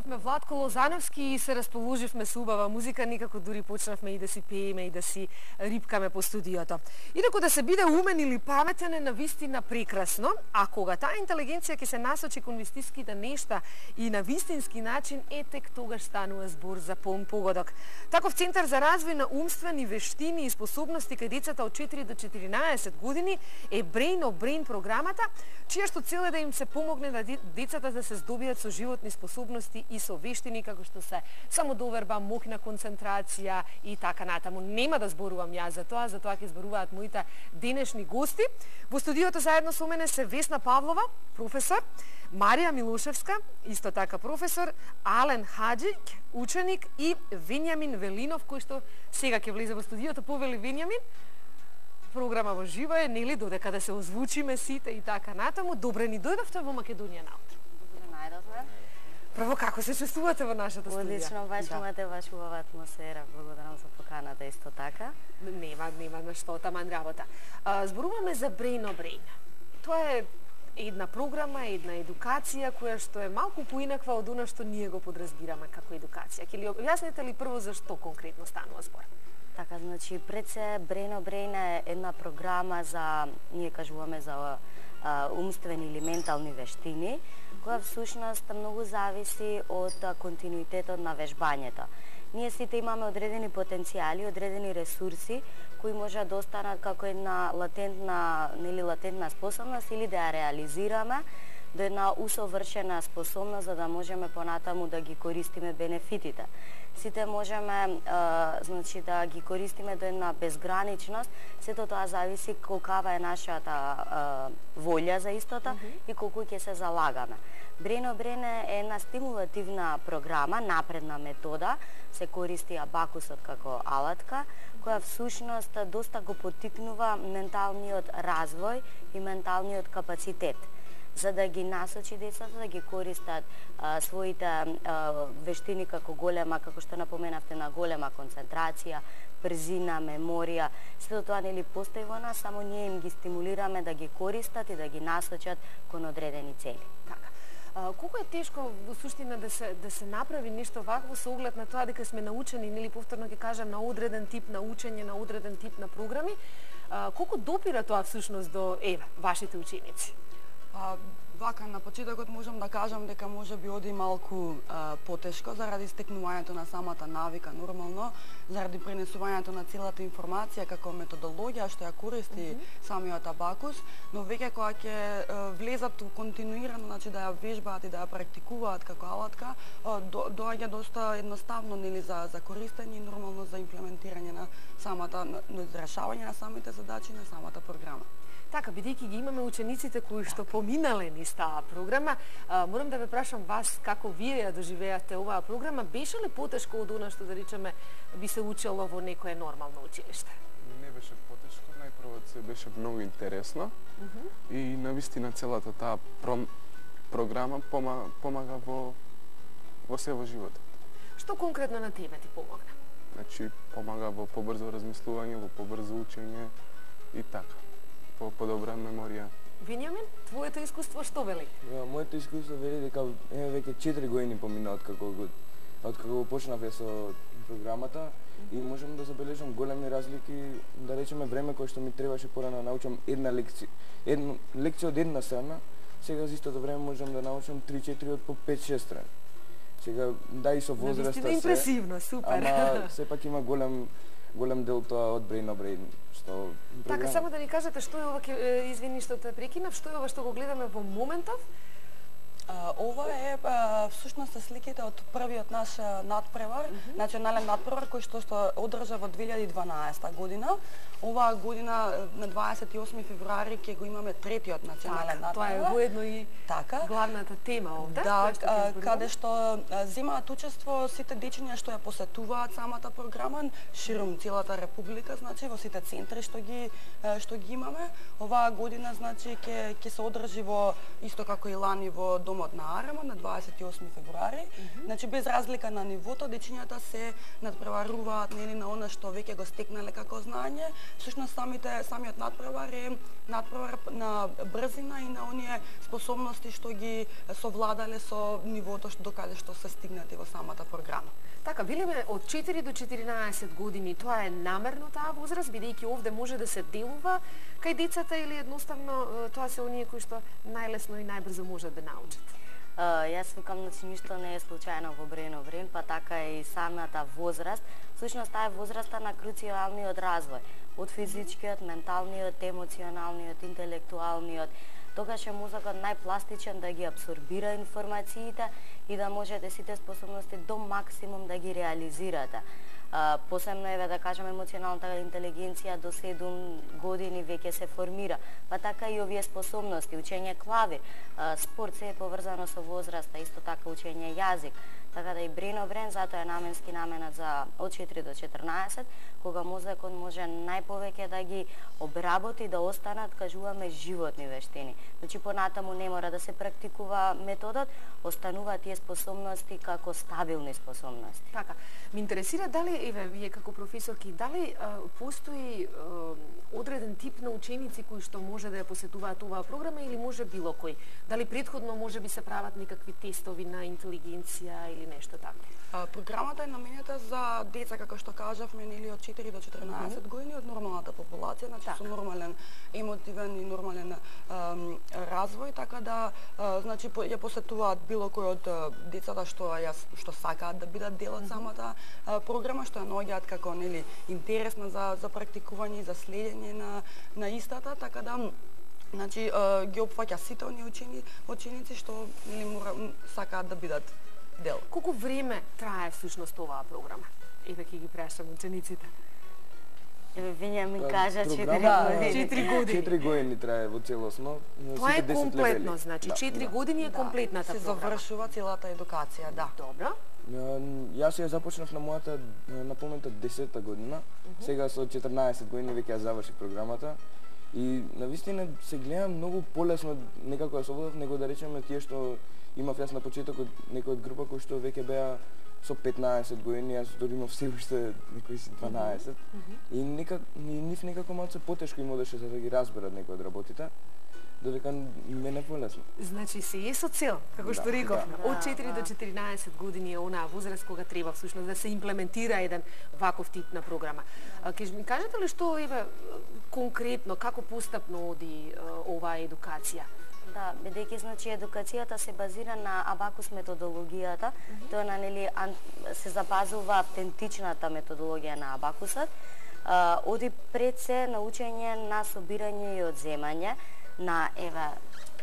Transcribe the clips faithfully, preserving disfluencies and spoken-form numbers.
слушнавме Владко Лозановски и се расположивме со убава музика, некако дури почнавме и да си пееме и да си рипкаме по студиото. Инаку да се биде умен или паметен е навистина прекрасно, а кога таа интелигенција ќе се насочи кон вистинските нешта и на вистински начин, е тек тогаш станува збор за полн погодок. Таков центар за развој на умствени вештини и способности кај децата од четири до четиринаесет години е Brain of Brain програмата, чија што цел е да им се помогне да децата да се здобијат со животни способности и со вештини како што се самодоверба, моќна концентрација и така натаму. Нема да зборувам јас за тоа, за тоа ќе зборуваат моите денешни гости. Во студиото заедно со мене се Весна Павлова, професор, Марија Милошевска, исто така професор, Ален Хаџик, ученик и Венјамин Велинов, кој што сега ќе влезе во студиото. Повели Венјамин, програма во живо е, нели, додека да се озвучиме сите и така натаму. Добре ни дојдовте во Македонија наутро. Добре најдовме. Прво, како се чувствувате во нашата студија? Одлично, баш имате баш убава атмосфера. Благодарам за поканата исто така. Нема, нема на што, таман работа. А, зборуваме за Brain of Brain. Тоа е една програма, една едукација која што е малку поинаква од она што ние го подразбираме како едукација. Ќе ли објасните ли прво за што конкретно станува збор? Така, значи, пред се Brain of Brain е една програма за, ние кажуваме за а, умствени или ментални вештини, која всушност многу зависи од континуитетот на вежбањето. Ние сите имаме одредени потенцијали, одредени ресурси кои можат да останат како една латентна, нели латентна способност или да ја реализираме до една усовршена способност за да можеме понатаму да ги користиме бенефитите. Сите можеме а, значи да ги користиме до една безграничност, сето тоа зависи колкава е нашата а, волја за истото mm -hmm. и колку ќе се залагаме. Brain of Brain е една стимулативна програма, напредна метода, се користи абакусот како алатка, која всушност доста го поттикнува менталниот развој и менталниот капацитет, за да ги насочи децата да ги користат а, своите а, вештини како голема, како што напоменавте, на голема концентрација, брзина, меморија. Сето тоа нели постои во нас, само ние им ги стимулираме да ги користат и да ги насочат кон одредени цели. Така. А, колку е тешко во суштина да се да се направи нешто вакво со оглед на тоа дека сме научени, нели повторно ќе кажам, на одреден тип на учење, на одреден тип на програми. А, колку допира тоа всушност до еве вашите ученици? А, вака, на почетокот можам да кажам дека може би оди малку а, потешко заради стекнувањето на самата навика нормално, заради пренесувањето на целата информација како методологија што ја користи mm -hmm. самиот абакус, но веќе кога ќе влезат континуирано, значи да ја вежбаат и да ја практикуваат како алатка, до, доаѓа доста едноставно нели за за користење и нормално за имплементирање на самата на, на решавање на самите задачи на самата програма. Така, бидејќи ги имаме учениците кои што поминале низ таа програма, а, морам да ве прашам вас како вие ја доживеавте оваа програма. Беше ли потешко од она што да речеме би се учело во некое нормално училиште? Не беше потешко, најпрво се беше многу интересно uh -huh. и навистина целата таа про... програма помага, помага во во се во животот. Што конкретно на тебе ти помогна? Значи помага во побрзо размислување, во побрзо учење и така. По подобра меморија. Венјамин, твоето искуство што вели? Ja, моето искуство вели дека е веќе четири години помина од како од како почнав со програмата mm -hmm. и можам да забележам големи разлики, да речеме време кое што ми требаше порано да научам една лекција, една лекција од една страна, сега за истото време можам да научам три-четири од по пет-шест страни. Сега да и со возраста се. Импресивно, супер. Ама сепак има голем голем дел тоа од Brain of Brain. Што така, само да ни кажете што е ова, извини што те прекинав, што е ова што го гледаме во моментов? Uh, ова е uh, всушност сликите од првиот наш надпревар, mm -hmm. национален надпревар кој што што одржа во две илјади и дванаесета година. Оваа година на дваесет и осми февруари ќе го имаме третиот национален так, надпревар. Тоа е воедно и така главната тема овде. Да, uh, каде што земаат учество сите дечиња што ја посетуваат самата програма широм целата република, значи во сите центри што ги што ги имаме. Оваа година значи ќе ќе се одржи во исто како и лани во Дом домот на Арамот на дваесет и осми февруари. Mm -hmm. Значи без разлика на нивото, дечињата се надпреваруваат нели на она што веќе го стекнале како знаење. Всушност самите самиот надпревар е надпревар на брзина и на оние способности што ги совладале со нивото што докаде што се стигнати во самата програма. Така, велиме од четири до четиринаесет години, тоа е намерно таа возраст, бидејќи овде може да се делува кај децата или едноставно тоа се оние кои што најлесно и најбрзо можат да научат? Uh, јас викам, значи, ништо не е случајно во Брено Брен, па така и самата возраст. Всушност, таа е возраста на круцијалниот развој. Од физичкиот, менталниот, емоционалниот, интелектуалниот. Тогаш е мозокот најпластичен да ги абсорбира информациите и да можете сите способности до максимум да ги реализирате. Uh, посебно еве да кажем емоционалната интелигенција до седум години веќе се формира, па така и овие способности, учење клавир, uh, спорт се е поврзано со возраста, исто така учење јазик. Така да и Брено Брен затоа е наменски наменат за од четири до четрнаесет, кога мозокот може најповеќе да ги обработи, да останат, кажуваме, животни вештини. Значи понатаму не мора да се практикува методот, остануваат тие способности како стабилни способности. Така, ме интересира дали, еве, вие како професорки, дали а, постои а, одреден тип на ученици кои што може да ја посетуваат оваа програма или може било кој? Дали претходно може би се прават некакви тестови на интелигенција или нешто така? А, програмата е наменета за деца, како што кажавме, нели од четири до четрнаесет mm -hmm. години, од нормалната популација, значи така, со нормален емотивен и нормален ам, развој, така да а, значи по, ја посетуваат било кој од а, децата што ја што сакаат да бидат дел од mm -hmm. самата а, програма, што ја наоѓаат како нели интересна за за практикување и за следење на на истата, така да значи ги опфаќа сите оние учени ученици што нели мора сакаат да бидат дел. Колку време трае всушност оваа програма? Еве ќе ги прашам учениците. Еве Виња ми кажа четири години. четири години. четири години трае во целосно. Тоа е комплетно, значи четири да, години е да, комплетната се програма. Се завршува целата едукација, да. Добро. Јас ја започнав на мојата наполнета десета година. Uh -huh. Сега со четрнаесет години веќе ја завршив програмата. И навистина се гледа многу полесно некако ја совладав, него да речеме тие што имав јас на почетокот некој од група кои што веќе беа со петнаесет години, јас дори имав се уште некои си дванаесет. Mm -hmm. И некак и нив некако малку потешко им одеше за да ги разберат некои од работите. Додека мене полесно. Значи се е со цел, како што да, рековме. Да. Од четири до четиринаесет години е онаа возраст кога треба всушност да се имплементира еден ваков тип на програма. Ќе ми кажете ли што еве конкретно како постапно оди оваа едукација? Да, бидејќи значи едукацијата се базира на абакус методологијата, mm -hmm. тоа на нели се запазува автентичната методологија на абакусот. А, оди пред се на учење на собирање и одземање на еве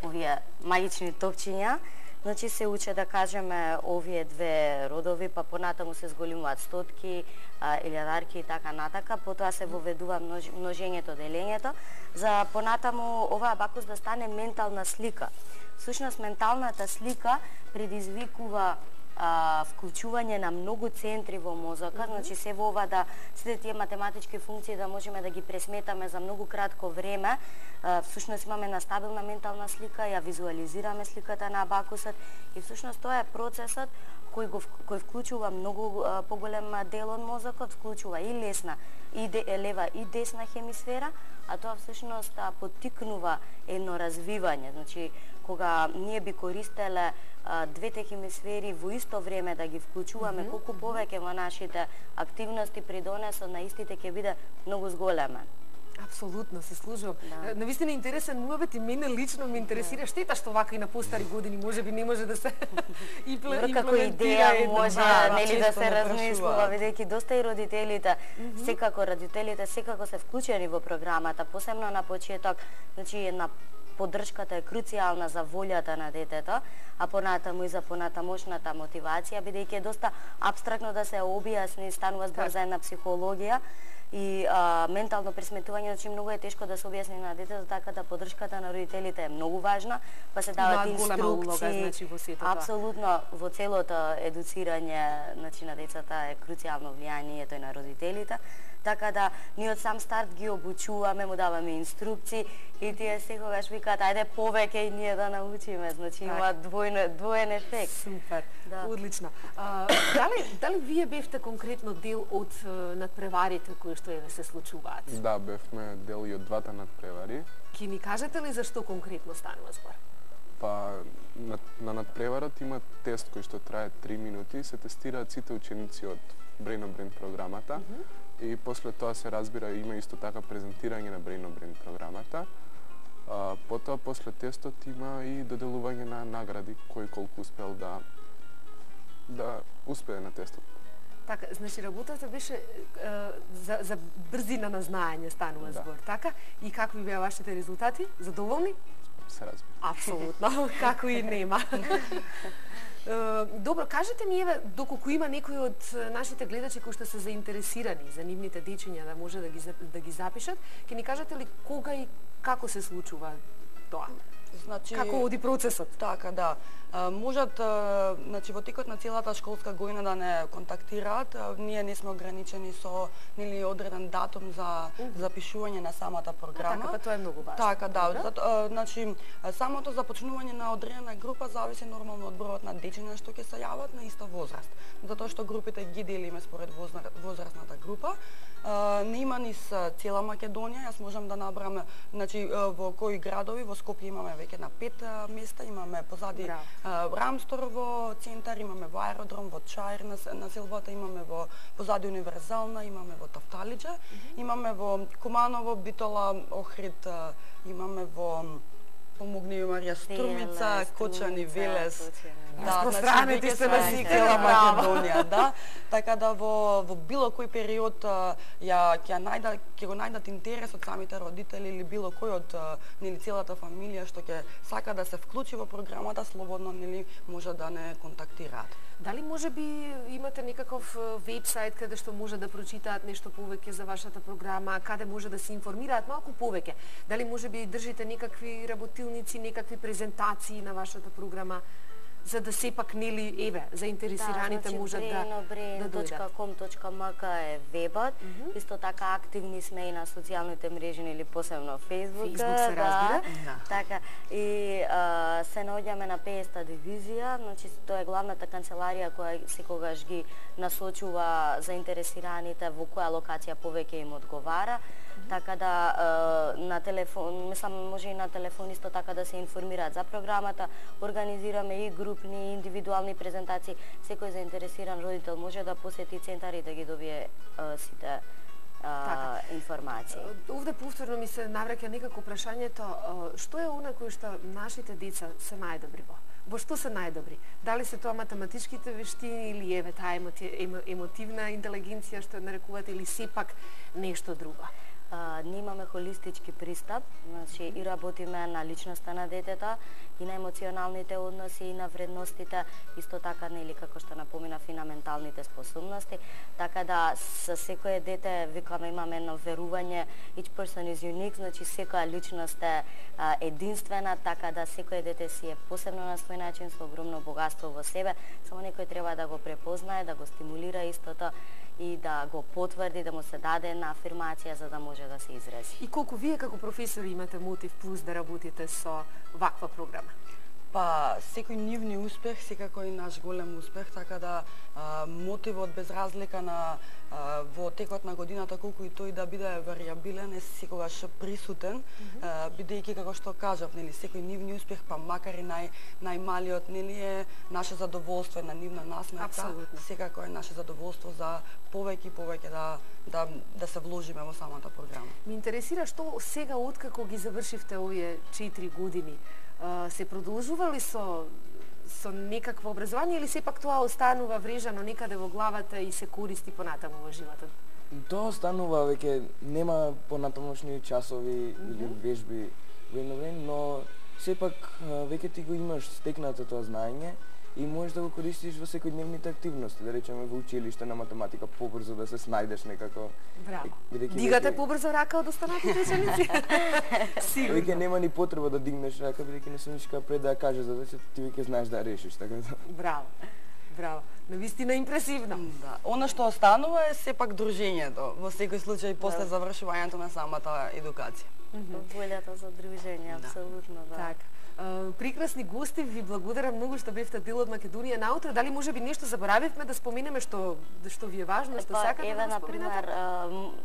овие магични топчиња. Значи се уче да кажеме овие две родови, па понатаму се зголемуваат стотки, илјадарки и така натака, потоа се воведува множ, множењето, делењето, за понатаму оваа абакус да стане ментална слика. Всушност менталната слика предизвикува а, вклучување на многу центри во мозокот, mm -hmm. значи се во ова да сите тие математички функции да можеме да ги пресметаме за многу кратко време. А, всушност имаме една стабилна ментална слика, ја визуализираме сликата на абакусот и всушност тоа е процесот кој го кој вклучува многу а, поголем дел од мозокот, вклучува и лесна и де, лева и десна хемисфера, а тоа всушност а, поттикнува едно развивање. Значи кога ние би користеле а, двете хемисфери во исто време да ги вклучуваме, mm -hmm. колку повеќе во нашите активности придонесот на истите ќе биде многу зголемен. Апсолутно, се служувам. Да. Навистина интересен муабет и мене лично ме интересира. Штета што вака и на постари години може би не може да се имплементира. Како идеја може да, нели да се размислува, бидејќи доста и родителите, mm -hmm. секако родителите секако се вклучени во програмата, посебно на почеток, значи една поддршката е круцијална за волјата на детето, а понатаму и за понатамошната мотивација, бидејќи е доста апстрактно да се објасни, станува збор за една психологија и а, ментално пресметување, значи многу е тешко да се објасни на детето, така да поддршката на родителите е многу важна, па се дават инструкции. Значи, во сето апсолутно во целото едуцирање, значи на децата е круцијално влијанието и на родителите. Така да ние од сам старт ги обучуваме, му даваме инструкции и тие секогаш викаат ајде повеќе и ние да научиме, значи има двојно двоен ефект. Супер. Да. Одлично. А, дали дали вие бевте конкретно дел од надпреварите кои што еве се случуваат? Да, бевме дел и од двата надпревари. Ки ни кажете ли зашто конкретно станува збор? Па на, на надпреварот има тест кој што трае три минути и се тестираат сите ученици од Brain on Brain програмата. Mm -hmm. И после тоа се разбира има исто така презентирање на Brain on Brain програмата. А, потоа после тестот има и доделување на награди кој колку успел да да успее на тестот. Така, значи работата беше е, за, за брзина на знаење станува Да. збор, така? И какви беа вашите резултати? Задоволни? Се разбира. Апсолутно, како и нема. Е, Добро, кажете ми еве доколку има некои од нашите гледачи кои што се заинтересирани за нивните дечиња да може да ги зап- да ги запишат, ќе ни кажете ли кога и како се случува тоа? Значи, Како оди процесот? Така, да. А, можат, а, значи, во текот на целата школска година да не контактираат. А, ние не сме ограничени со нели одреден датум за запишување на самата програма. Така, па тоа е многу важно. Така, да. Добро. Зато, а, значи, а, самото започнување на одредена група зависи нормално од бројот на дечиња што ќе се јават на иста возраст. Затоа што групите ги делиме според возра- возрастната група. А, не има низ цела Македонија, јас можам да набрам, значи, а, во кои градови, во Скопје имаме веќе на пет а, места, имаме позади Браво. а, Рамстор во центар, имаме во аеродром, во Чаир на, на селбата, имаме во позади Универзална, имаме во Тафталиџа, mm -hmm. имаме во Куманово, Битола, Охрид, а, имаме во помогни ми Марија Струмица, Кочани, Велес. Да, распространети веќе сте на сме сите цела направо. Македонија, да. Така да во во било кој период а, ја ќе најда ќе го најдат интерес од самите родители или било кој од а, нели целата фамилија што ќе сака да се вклучи во програмата, слободно нели може да не контактираат. Дали може би имате некаков вебсайт каде што може да прочитаат нешто повеќе за вашата програма, каде може да се информираат малку повеќе? Дали може би држите некакви работилници, некакви презентации на вашата програма, за да сепак нели еве заинтересираните да, значи, можат да да brain точка com точка m k е вебот. Mm -hmm. Исто така активни сме и на социјалните мрежи или посебно Facebook. Facebook се разбира. Да. Така и а, се наоѓаме на петдесета дивизија, значи тоа е главната канцеларија која секогаш ги насочува заинтересираните во која локација повеќе им одговара. Така да на телефон, мислам може и на телефон исто така да се информираат за програмата. Организираме и групни, индивидуални презентации. Секој заинтересиран родител може да посети центар и да ги добие а, сите а, Така. информации. Овде повторно ми се навраќа некако прашањето, што е она кој што нашите деца се најдобри во? Во што се најдобри? Дали се тоа математичките вештини или еве таа емоти, емо, емотивна интелигенција што нарекувате или сепак нешто друго? А, ние имаме холистички пристап, значи и работиме на личноста на детето, и на емоционалните односи, и на вредностите, исто така нели како што напоминав и на менталните способности, така да со секое дете викаме имаме едно верување each person is unique, значи секоја личност е а, единствена, така да секое дете си е посебно на свој начин со огромно богатство во себе, само некој треба да го препознае, да го стимулира истото и да го потврди, да му се даде една афирмација за да може да се изрази. И колку вие како професори имате мотив плюс да работите со ваква програма? Па, секој нивни успех, секако и наш голем успех, така да а, мотивот без разлика на а, во текот на годината, колку и тој да биде варијабилен, е секогаш присутен, mm -hmm. бидејќи како што кажав, нели, секој нивни успех, па макар и нај најмалиот, нели, е наше задоволство, на нивна насмевка. Апсолутно. Секако е наше задоволство за повеќе и повеќе да да да се вложиме во самата програма. Ми интересира што сега откако ги завршивте овие четири години, се продолжува ли со со некакво образование или сепак тоа останува врежано некаде во главата и се користи понатаму во животот? Тоа останува веќе, нема понатамошни часови mm -hmm. или вежби во едно време, но сепак веќе ти го имаш стекнато тоа знаење и можеш да го користиш во секојдневните активности, да речеме во училиште на математика побрзо да се снајдеш некако. Браво. Бидејќи Дигате веќе- побрзо рака од останатите ученици? Сигурно. Веќе нема ни потреба да дигнеш рака, бидејќи несумничка пред да ја кажеш задачата, ти веќе знаеш да ја решиш, така да. Браво. Браво. Навистина импресивно. Да. Она што останува е сепак дружењето, во секој случај после завршувањето на самата едукација. Волјата за дружење, апсолутно, да. Така. Прекрасни гости, ви благодарам многу што бевте дел од Македонија наутро. Дали може би нешто заборавивме да споменеме што што ви е важно, што сакате еве, да на пример,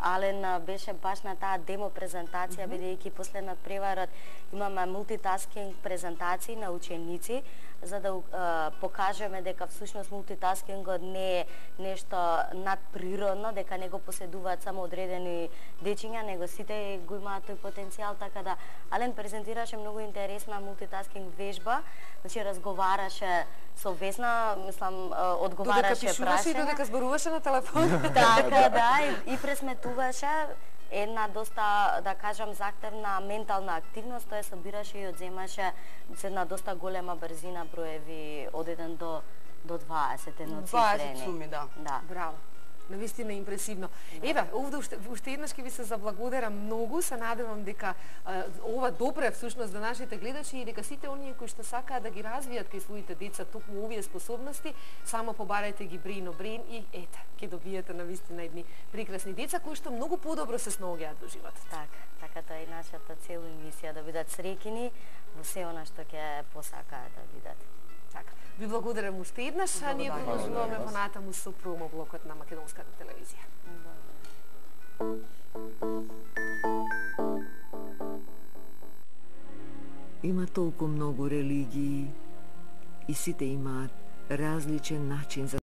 Ален беше баш на таа демо презентација, бидејќи после надпреварот имаме мултитаскинг презентации на ученици, за да покажеме дека всушност мултитаскингот не е нешто надприродно, дека не го поседуваат само одредени дечиња, него сите го имаат тој потенцијал, така да Ален презентираше многу интересна мултитаскинг вежба, значи разговараше со Весна, мислам, одговараше прашања. Додека пишуваше и додека зборуваше на телефон. Така, да, и, и пресметуваше една доста, да кажам, захтевна ментална активност, тој собираше и одземаше се на доста голема брзина броеви од еден до до дваесет едноцифрени. дваесет суми, да. Да. Браво. Навистина импресивно. Да. Еве, овде уште, уште еднаш ќе ви се заблагодарам многу, се надевам дека а, ова допре всушност до нашите гледачи и дека сите оние кои што сакаат да ги развијат кај своите деца токму овие способности, само побарајте ги Брейно Брейн и ете, ќе добиете навистина едни прекрасни деца кои што многу подобро се сноѓаат во животот. Така, така тоа е нашата цел и мисија, да бидат среќни во се она што ќе посакаат да бидат. Така. Ви благодарам уште еднаш, а ние продолжуваме понатаму со промо блокот на Македонската телевизија. Има толку многу религии и сите имаат различен начин за